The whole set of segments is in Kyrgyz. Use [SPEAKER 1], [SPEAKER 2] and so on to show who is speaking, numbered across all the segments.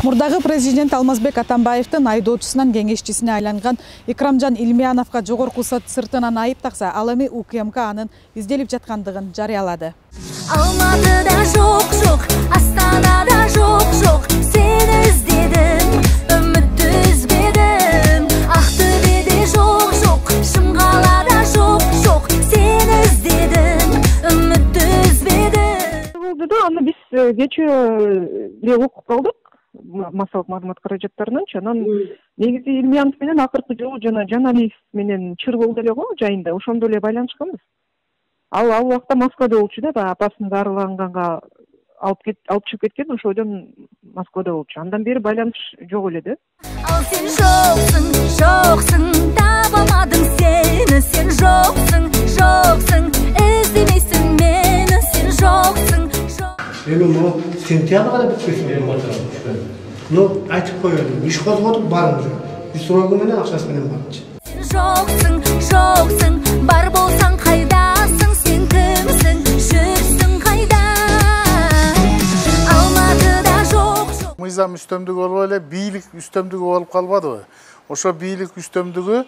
[SPEAKER 1] Мурдагы президент Алмазбек Атамбаевдин айдоочусунан кеңешчисине айланган Икрамжан Илмияновго жогорку сот сыртынан айып такса, ал эми УКМК анын изделип жаткандыгын жарыялады.
[SPEAKER 2] Алматыда жок, Астанада жок, сени издедим, үмүттү үзбедим. Актөбедө жок, Шымгалада жок, сени издедим, үмүттү үзбедим.
[SPEAKER 3] Аны биз кечээ окуп калдык. Массалык маалымат каражаттарынан анан негизи Илмиянов менен акыркы жолу жана Жаналиев менен чыр болду эле го жайында, ошондо эле байланышканбыз. Ал убакта Москвада болчу да, апасын дарыланганга алып чыгып кеткен, ошодон Москвада болчу. Андан бери байланыш жок эле да.
[SPEAKER 2] Ал сен жоксуң, табамадым сени, сен жоксуң, издемейсиң мени, сен жоксуң.
[SPEAKER 4] Эми могу сентябрь кана бүткөсүн деп атам. Айтып коелу, иш козготуп барыңыз. Срогу менен акчасы менен барчы.
[SPEAKER 2] Сен жоксуң, бар болсаң кайдасың, сен кимсиң, жүрсүң кайда? Алматыда жок.
[SPEAKER 5] Мыйзам үстөмдүгү болуп эле бийлик үстөмдүгү болуп калбадыбы? Ошо бийлик үстөмдүгү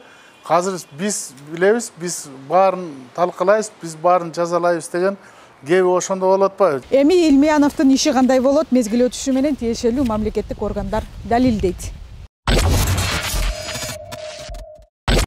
[SPEAKER 5] азыр биз билебиз, биз баарын талкалайбыз, биз баарын жазалайбыз деген кеби ошондо болот атпайбы?
[SPEAKER 1] Эми Илмияновдун иши кандай болот, мезгил өтүшү менен тиешелүү мамлекеттик органдар далилдейт.